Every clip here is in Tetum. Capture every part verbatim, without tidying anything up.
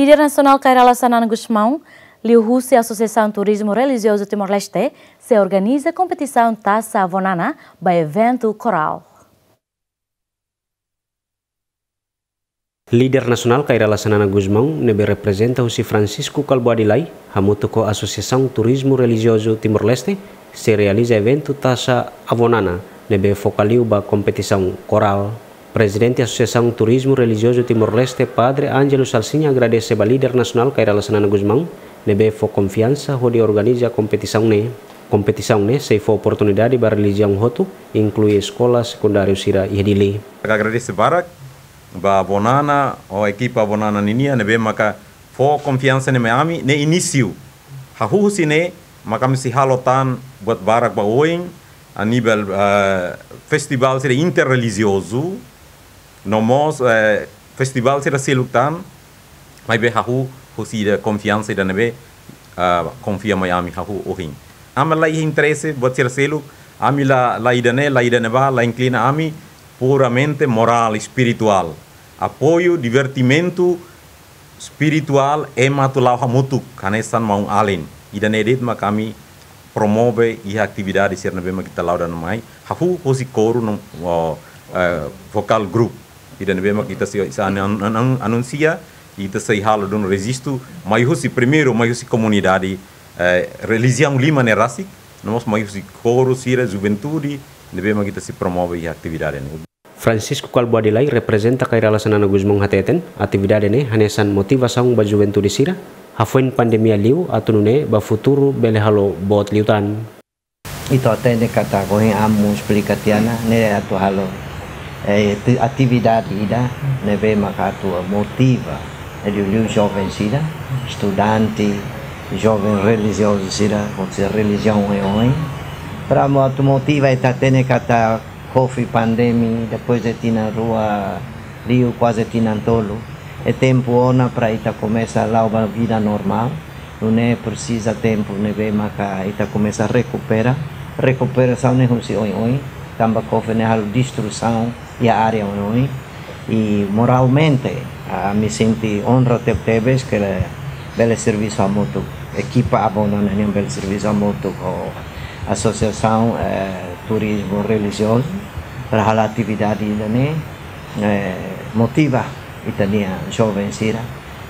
Líder nasionál Kay Rala Xanana Gusmão, liuhusi Asosiasaun Turizmu Relijiozu Timor-Leste, sei organiza kompetisaun Taxa Avó Nana ba eventu korál. Líder nasionál Kay Rala Xanana Gusmão, ne'ebé reprezenta husi Francisco Kalbuadi Lay, hamutuk ho Asosiasaun Turizmu Relijiozu Timor-Leste, sei realiza eventu Taxa Avó Nana, ne'ebé foka liu ba kompetisaun korál. Prezidente Asosiasaun Turizmu Relijiozu Timor-Leste, Padre Ângelo Salsinha, agradese ba líder nasionál Kay Rala Xanana Gusmão, ne'ebé fó konfiansa hodi organiza kompetisaun ne'e. Kompetisaun ne'e sei fó oportunidade ba relijiaun hotu, inklui eskola sekundáriu sira iha Dili. Agradese barak ba Avó Nana, ho ekipa Avó Nana ninian, ne'ebé maka fó konfiansa ne'e mai ami, ne'e inísiu. Hahú husi ne'e, maka ami sei halo tan buat barak ba oin, a nivel, eh, festivál sira interrelijiozu, no mós, eh, festivál sira seluk tan, maibé hahú husi ida konfiansa ida ne'ebé, ah, konfia mai ami hahú ohin. Ami la iha interese buat sira seluk, ami la, la ida-ne'e, la ida-ne'ebá, la inklina ami, puramente morál, espirituál. Apoiu, divertimentu, espirituál, ema atu la'o hamutuk, hanesan maun-alin. Ida-ne'e de'it mak ami promove iha atividade sira ne'ebé mak ita la'o daudaun mai. Hahú husi koru no, o, eh, vokál grupu. Ida ne'ebé mak ita sei, sei an-, an-, an-, anunsia, ita sei halo duni rejistu, mai husi primeiru, mai husi komunidade, eh, relijiaun lima ne'e rasik, no mós mai husi koru sira, juventude, ne'ebé mak ita sei promove iha atividade ne'e. Francisco Kalbuadi Lay, reprezenta Kay Rala Xanana Gusmão, hateten, atividade ne'e hanesan motivasaun ba juventude sira, hafoin pandemia liu, atu nune'e ba futuru bele halo boot liután. Ita hatene katak ohin ami esplika tiha ona, ne'e atu halo, eh, ati-, atividade ida ne'ebé maka atu motiva, eh, liuliu joven sira, estudante, joven relijiozu sira, ou seja, relijiaun oioin. Para mo-, atu motiva, ita hatene katak covid pandemia, depois de tinan rua liu, kuaze tinan tolu, é tempu ona para ita komesa la'o ba vida normál. Nune'e presiza tempu ne'ebé maka ita komesa rekupera. Rekuperasaun ne'e husi oioin, tanba covid ne'e halo destruisaun iha área oioin. I moralmente, ami sente onra tebetebes katak bele servisu hamutuk, ekipa Avó Nana nian bele servisu hamutuk ho Asosiasaun, eh, Turizmu Relijiozu, para halo atividade ida-ne'e, eh, motiva ita-nia joven sira.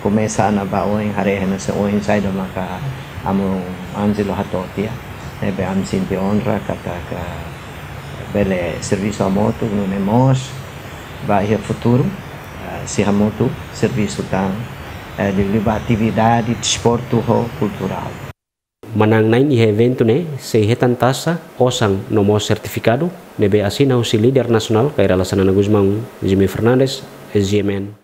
Komesa ona ba oin, haree hanesan oin saida maka amu Ângelo hato'o tiha. Ne'ebé ami sente onra katak bele servisu hamutuk, nune'e mós ba iha futuru, eh, sei hamutuk servisu tan, eh, liuliu ba atividade desportu ho kulturál. Manán-na'in iha eventu ne'e sei hetan taxa, osan no mós sertifikadu, ne'ebé asina husi líder nasionál Kay Rala Xanana Gusmão, Jimmy Fernandes, S G M N.